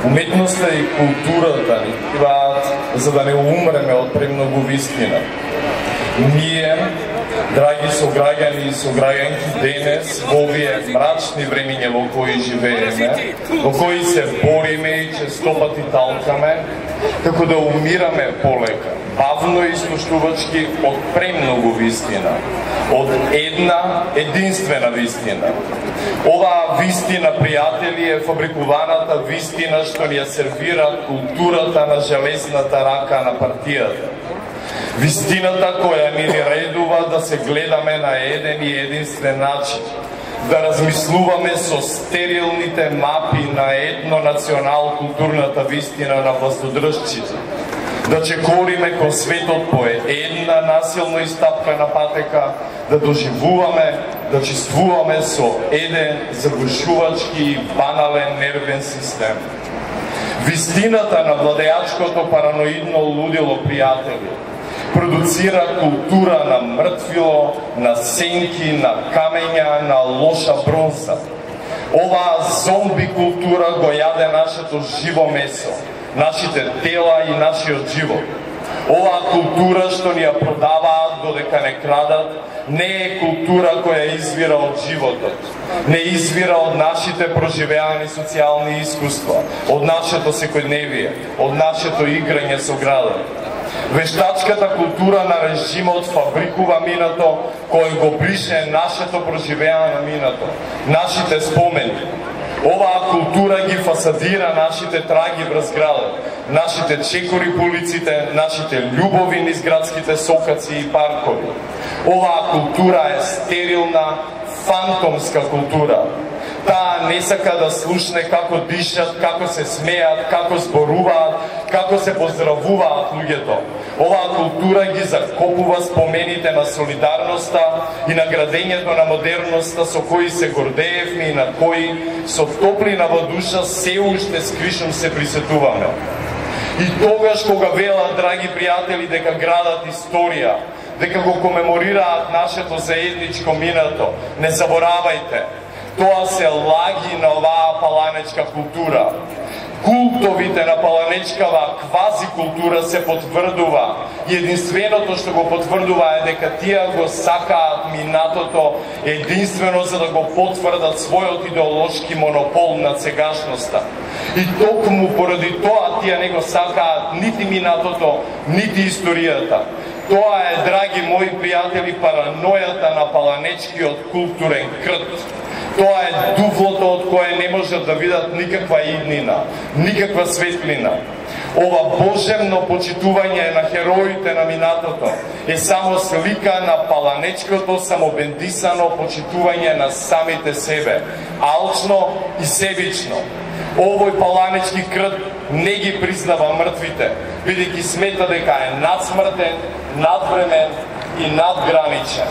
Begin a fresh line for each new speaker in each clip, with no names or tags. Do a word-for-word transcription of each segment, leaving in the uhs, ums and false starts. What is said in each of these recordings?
Уметноста и културата ни требаат за да не умреме од премногу вистина. Ние, драги сограѓани и сограѓанки, денес во овие мрачни времиња во кои живееме, во кои се бориме и честопати талкаме, како да умираме полека, бавно и слуштувачки од премногу вистина, од една единствена вистина. Оваа вистина, пријатели, е фабрикуваната вистина што ни ја сервира културата на железната рака на партијата. Вистината која ни редува да се гледаме на еден и единствен начин, да размислуваме со стерилните мапи на етно-национал-културната вистина на властодржците, да чекориме кон светот по една насилно истапкана патека, да доживуваме, да чувствуваме со еден загушувачки и банален нервен систем. Вистината на владеачкото параноидно лудило, пријатели, продуцира култура на мртвило, на сенки, на камења, на лоша бронза. Оваа зомби култура го јаде нашето живо месо, нашите тела и нашиот живот. Оваа култура што ни ја продаваат додека не крадат, не е култура која извира од животот, не извира од нашите проживеани социјални искуства, од нашето секојдневие, од нашето играње со градот. Вештачката култура на режимот фабрикува минато, кој го брише нашето проживеано минато, нашите спомени. Оваа култура ги фасадира нашите траги врз градот, нашите чекори по улиците, нашите љубови низ градските сокаци и паркови. Оваа култура е стерилна, фантомска култура. Таа не сака да слушне како дишат, како се смеат, како зборуваат, како се поздравуваат луѓето. Оваа култура ги закопува спомените на солидарноста и на градењето на модерноста со кои се гордеевме и на кои со топлина во душа се уште скришом се присетуваме. И тогаш кога велат, драги пријатели, дека градат историја, дека го комеморираат нашето заедничко минато, не заборавајте, тоа се лаги на оваа паланечка култура. Култовите на паланечкава квази култура се потврдува и единственото што го потврдува е дека тие го сакаат минатото единствено за да го потврдат својот идеолошки монопол над сегашноста. И токму поради тоа тие не го сакаат нити минатото, нити историјата. Тоа е, драги мои пријатели, паранојата на паланечкиот културен крт. Тоа е дуфлото од кое не можат да видат никаква иднина, никаква светлина. Ова божемно почитување на хероите на минатото е само слика на паланечкото самобендисано почитување на самите себе, алчно и себично. Овој паланечки крт не ги признава мртвите, бидејќи смета дека е надсмртен, надвремен и надграничен.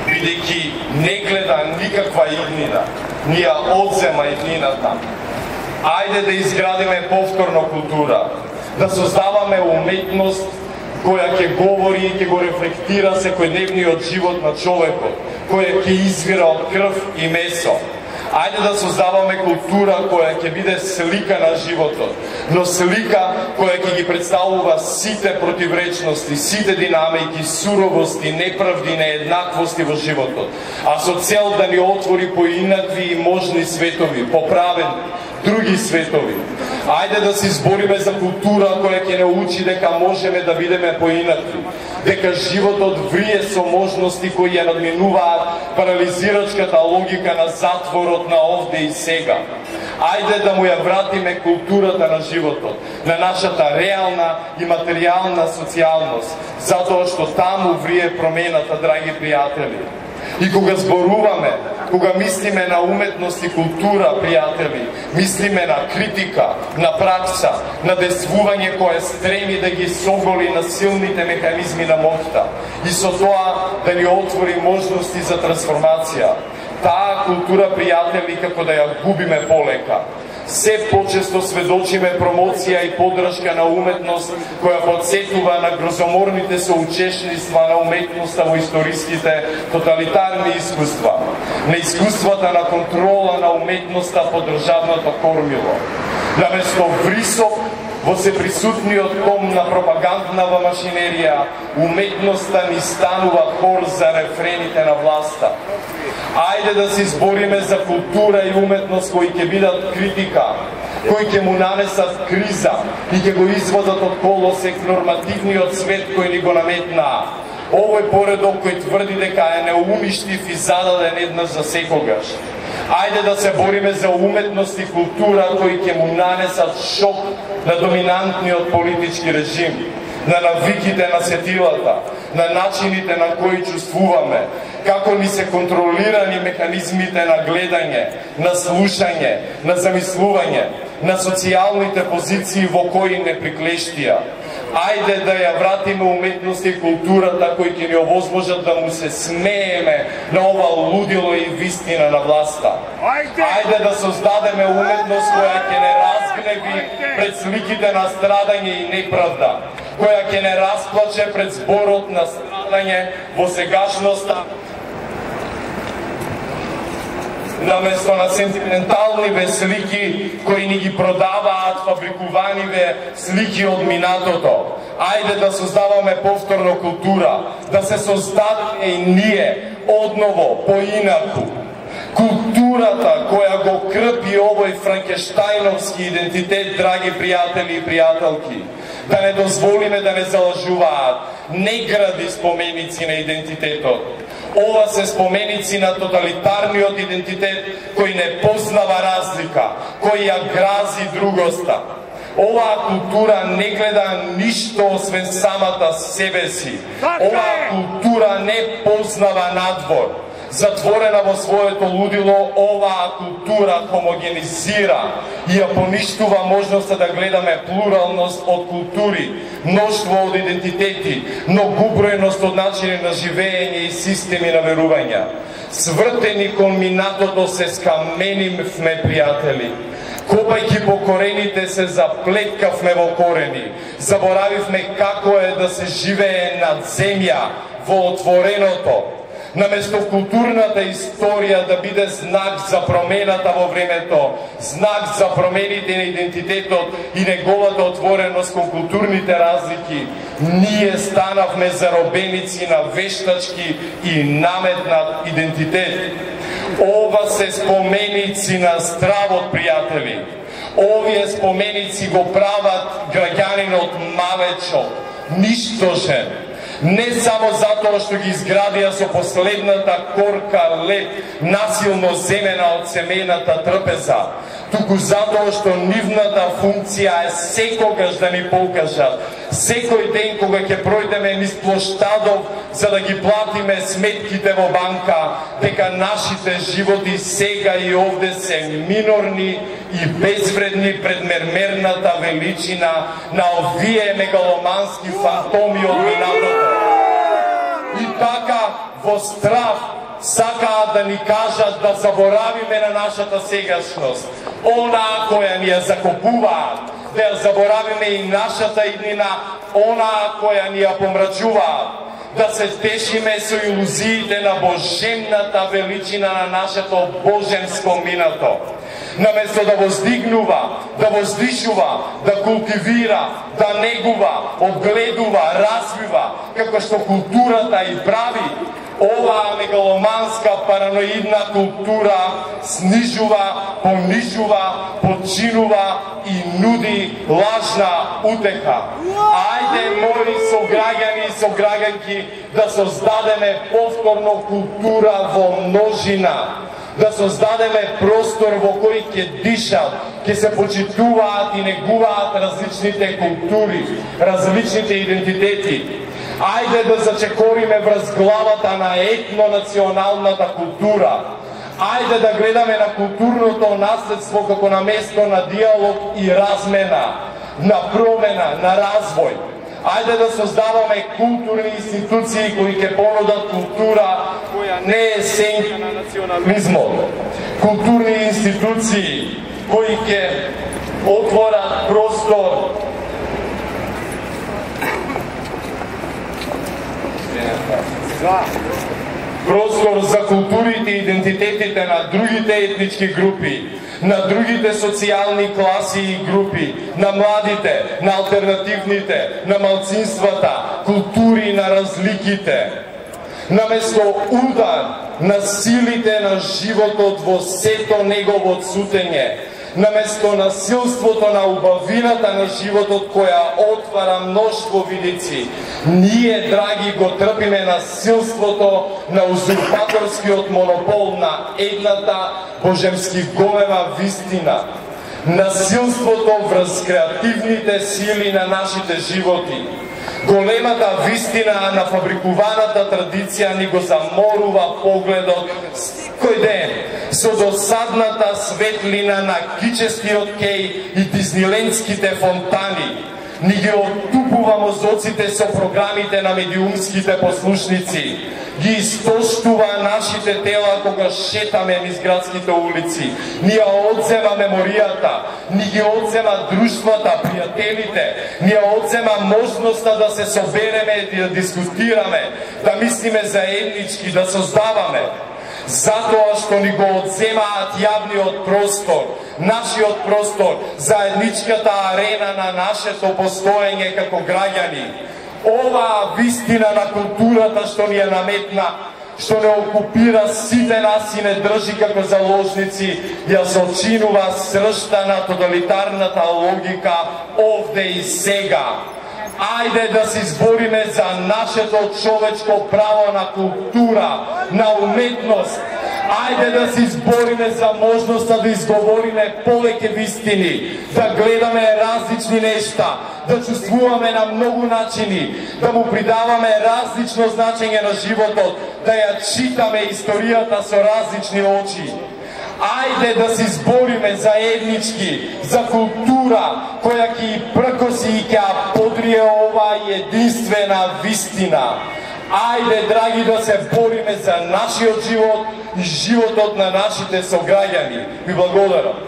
Бидејќи не гледа никаква иднина, ни ја одзема иднината. Ајде да изградиме повторно култура, да создаваме уметност која ќе говори и ќе го рефлектира секојдневниот живот на човекот, која ќе извира од крв и месо. Ајде да создаваме култура која ќе биде слика на животот, но слика која ќе ги представува сите противречности, сите динамики, суровости, неправди, нееднаквости во животот, а со цел да ни отвори поинакви и можни светови, поправени, други светови. Ајде да се избориме за култура која ќе не учи дека можеме да бидеме поинакви, дека животот врие со можности кои ја надминуваат парализирачката логика на затворот на овде и сега. Ајде да му ја вратиме културата на животот, на нашата реална и материјална социјалност, затоа што таму врие промената, драги пријатели. И кога зборуваме, кога мислиме на уметност и култура, пријатели, мислиме на критика, на пракса, на действување кое стреми да ги соголи на силните механизми на моќта и со тоа да ни отвори можности за трансформација. Таа култура, пријатели, како да ја губиме полека. Се почесто сведочиме промоција и поддршка на уметност која подсетува на грозоморните соучесниства на уметноста во историските тоталитарни искуства, на искуствата на контрола на уметноста по државното кормило. Наместо врисок во сеприсутниот том на пропаганднава машинерија, уметноста ни станува хор за рефрените на власта. Ајде да се избориме за култура и уметност кои ќе бидат критика, кои ќе му нанесат криза и ќе го изводат од колосек нормативниот свет кој ни го наметнаа. Овој поредок кој тврди дека е неумиштив и зададен еднаш за секогаш. Ајде да се бориме за уметност и култура кои ќе му нанесат шок на доминантниот политички режим, на навиките на сетилата, на начините на кои чувствуваме, како ни се контролирани механизмите на гледање, на слушање, на замислување, на социјалните позиции во кои не приклештија. Ајде да ја вратиме уметност и културата кои ќе ни овозможат да му се смееме на ова лудило и вистина на власта. Ајде да создадеме уметност која ќе не разгневи пред сликите на страдање и неправда, која ќе не расплаче пред зборот на страдање во сегашноста, наместо на сентименталниве слики кои ни ги продаваат фабрикуваниве слики од минатото. Ајде да создаваме повторно култура, да се создадеме и ние одново поинаку. Културата која го крпи овој франкештајновски идентитет, драги пријатели и пријателки, да не дозволиме да не залажуваат, не гради споменици на идентитетот. Ова се споменици на тоталитарниот идентитет кој не познава разлика, кој ја грази другоста. Оваа култура не гледа ништо освен самата себе си. Оваа култура не познава надвор. Затворена во своето лудило, оваа култура хомогенизира и ја поништува можноста да гледаме плуралност од култури, мноштво од идентитети, многобројност од начини на живење и системи на верувања. Свртени кон минатото се скаменивме, пријатели. Копајќи по корените се заплеткавме во корени. Заборавивме како е да се живее над земја, во отвореното. Наместо културната историја да биде знак за промената во времето, знак за промените на идентитетот и неговата отвореност кон културните разлики, ние станавме заробеници на вештачки и наметнат идентитет. Ова се споменици на стравот, пријатели. Овие споменици го прават граѓанинот мавечок, ништожен. Не само затоа што ги изградија со последната корка лед, насилно земена од семејната трпеза, туку затоа што нивната функција е секогаш да ни покажат, секој ден кога ќе пројдеме низ плоштадов за да ги платиме сметките во банка, дека нашите животи сега и овде се минорни и безвредни пред мермерната величина на овие мегаломански фантоми од минатото. И така, во страв, сакаат да ни кажат да заборавиме на нашата сегашност, онаа која ни ја закопуваат, да ја заборавиме и нашата иднина, онаа која ни ја помрачуваат, да се тешиме со илузиите на божемната величина на нашето божемско минато. Наместо да воздигнува, да воздишува, да култивира, да негува, одгледува, развива, како што културата и прави, оваа мегаломанска параноидна култура снижува, понижува, подчинува и нуди лажна утеха. Ајде, мои сограѓани и сограѓанки, да создадеме повторно култура во множина, да создадеме простор во кој ќе дишат, ќе се почитуваат и негуваат различните култури, различните идентитети. Ајде да зачекориме врз главата на етнонационалната култура. Ајде да гледаме на културното наследство како на место на диалог и размена, на промена, на развој. Ајде да создаваме културни институции кои ќе понудат култура која не е сенка на национализмот. Културни институции кои ќе отворат простор простор за културите и идентитетите на другите етнички групи, на другите социјални класи и групи, на младите, на алтернативните, на малцинствата, култури на разликите. Наместо удар на силите на животот во сето негово цутење, наместо насилството на убавината на животот која отвара мноштво видици, ние, драги, го трпиме насилството на узурпаторскиот монопол на едната божемски голема вистина, насилството врз креативните сили на нашите животи. Големата вистина на фабрикуваната традиција ни го заморува погледот кој ден со досадната светлина на кичестиот кеј и дизнилендските фонтани. Ни ги оттупува мозоците со програмите на медиумските послушници. Ги истоштува нашите тела кога шетаме низ градските улици. Ни ја одзема меморијата, ни ги одзема друштвата, пријателите, ни ја одзема можноста да се собереме и да дискутираме, да мислиме заеднички, да создаваме. Затоа што ни го одземаат јавниот простор, нашиот простор, заедничката арена на нашето постоење како граѓани. Оваа вистина на културата што ни ја наметна, што не окупира сите нас и не држи како заложници, ја сочинува сршта на тоталитарната логика овде и сега. Ајде да се избориме за нашето човечко право на култура, на уметност. Ајде да се избориме за можноста да изговориме повеќе вистини, да гледаме различни нешта, да чувствуваме на многу начини, да му придаваме различно значење на животот, да ја читаме историјата со различни очи. Ајде да се избориме заеднички за култура која ќе пркоси и ќе подрие оваа единствена вистина. Ајде, драги, да се бориме за нашиот живот и животот на нашите сограѓани. Ви благодарам.